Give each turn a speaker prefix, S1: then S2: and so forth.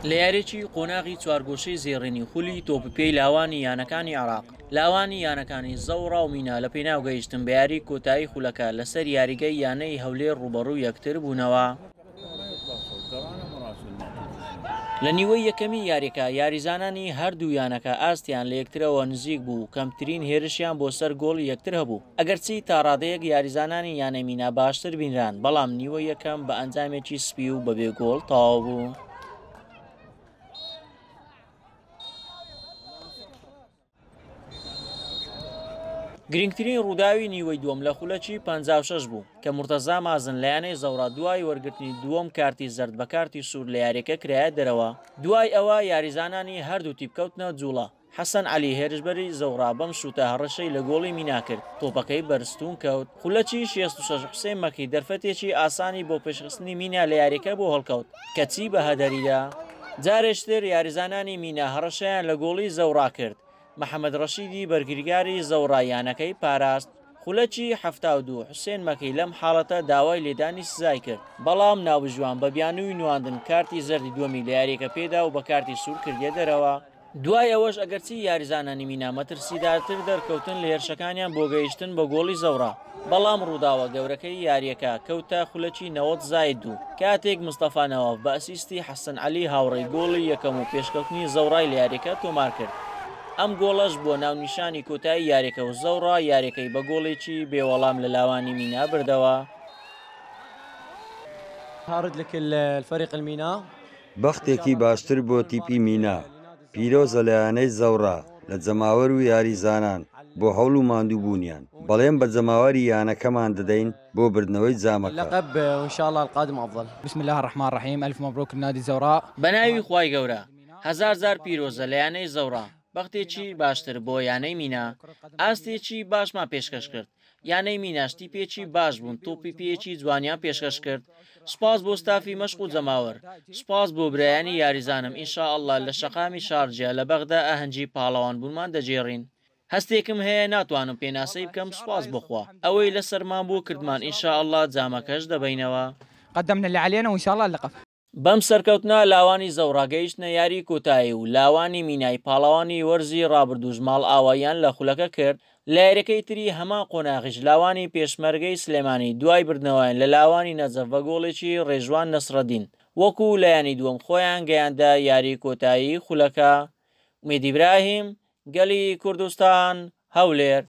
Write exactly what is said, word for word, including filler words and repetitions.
S1: لە یاریی قۆناغی چوارگۆشەی زێڕینی خولی تۆپی پێی لاوانی یانەکانی عێراق، لاوانی یانەکانی زەوڕا و مینا لە پێناو گەیشتن بە یاری کۆتایی خولەکە لەسەر یاریگەی یانەی هەولێر ڕووبەڕوو یەکتر بوونەوە. لە نیوەی یەکەمی یاریەکە یاریزانانی هەردوو یانەکە ئاستیان لە یەکترەوە نزیک بوو و کەمترین هێرشیان بۆ سەر گۆڵی یەکتر هەبوو. ئەگەرچی تا ڕادەیەک یاریزانانی یانەی مینا باشتر بینران، بەڵام نیوەی یەکەم بە ئەنجامێکی سپی و بەبێ گۆڵ تەواو بوو. گرنگترین ڕووداوی نیوەی دووەم لە خولەکی پەنجا و شەش بوو کە مرتەزا مازن لە یانەی زەوڕا دوای وەرگرتنی دووەم کارتی زەرد بە کارتی سوور لە یاریەکە کرایە دەرەوە. دوای ئەوە یاریزانانی هەردوو تیپ کەوتنە جوڵە. حەسەن عەلی هێرشبەری زەوڕا بەم شووتە هەڕەشەی لە گۆڵی مینا کرد، تۆپەکەی بەرستون کەوت. خولەکی شێست و شەش حوسێن مەکی دەرفەتێکی ئاسانی بۆ پێشخستنی مینا لە یاریەکە بۆ هەڵکەوت کەچی بە هەدەریدا. جارێکتر یاریزانانی مینا هەڕەشەیان لە گۆڵی زەوڕا کرد. محەممەد ڕەشیدی بەرگریگاری زەوڕا یانەکەی پاراست. خولەکی حەفتا و دوو حوسێن مەکی لەم حاڵەتە داوای لێدانی سزای کرد، بەڵام ناوبژیوان بە بیانووی نواندن کارتی زەردی دووەمی لە یاریەکە پێدا و بە کارتی سوور کردیە دەرەوە. دوای ئەوەش ئەگەرچی یاریزانانی مینا مەترسیدارتر دەرکەوتن لە هێرشەکانیان بۆ گەیشتن بە گۆڵی زەوڕا، بەڵام ڕووداوە گەورەکەی یاریەکە کەوتە خولەکی نەوەد زاید دوو کاتێک مستەفا نەواف بە ئەسیستی حەسەن عەلی هاوڕێی گۆڵی یەکەم و پێشکەوتنی زەوڕای لە یاریەکە تۆمار کرد. ئەم گۆڵەش بووە ناونیشانی کۆتایی یاریەکە و زەوڕا یاریەکەی بە گۆڵێکی بێوەڵام لە لاوانی مینا بردەوە.
S2: هارد لك الفريق المينا.
S3: بەختێکی باشتر بۆ تیپی مینا، پیرۆزە لە یانەی زەوڕا لە جەماوەر و یاریزانان بۆ هەوڵ و ماندووبوونیان. بەڵێن بە جەماوەری یانەکەمان دەدەین بۆ بردنەوەی جامەکە.
S2: اللقب وإن شاء الله القادم أفضل.
S4: بسم الله الرحمن الرحيم. ألف مبروك لنادي الزوراء.
S1: بە ناوی خوای گەورە هەزار جار پیرۆزە لە یانەی زەوڕا، بەختێکی باشتر بۆ یانەی مینا. ئاستێکی باشمان پێشکەش کرد. یانەی میناش تیپێکی باش بوون، تۆپی پێیەکی جوانیان پێشکەش کرد. سوپاس بۆ ستافی مەشق و جەماوەر، سوپاس بۆ برایانی یاریزانم. ئینشاءاللە لە شەقامی شارجیا لە بەغدا ئاهەنگی پاڵەوان بوونمان دەگێڕین. هەستێکم هەیە ناتوانم پێناسەی بکەم، سوپاس بخوا ئەوەی لەسەرمان بۆ کردمان. ئینشاءاللە جامەکەش دەبینەوە.
S4: قدمنا اللي علينا وإن شاء الله اللقب.
S1: بەم سەرکەوتنە لاوانی زەوڕا گەیشتنە یاری کۆتایی و لاوانی مینای پاڵەوانی وەرزی ڕابردووش ماڵ ئاواییان لە خولەکە کرد. لە یاریەکەی تری هەمان قۆناغیش لاوانی پێشمەرگەی سلێمانی دوای بردنەوەیان لە لاوانی نەجەف بە گۆڵێکی ڕێژوان نەسرەدین وەکو لایەنی دووەم خۆیان گەیاندە یاری کۆتایی خولەکە. ئومێد ئیبراهیم، گەلی کوردستان، هەولێر.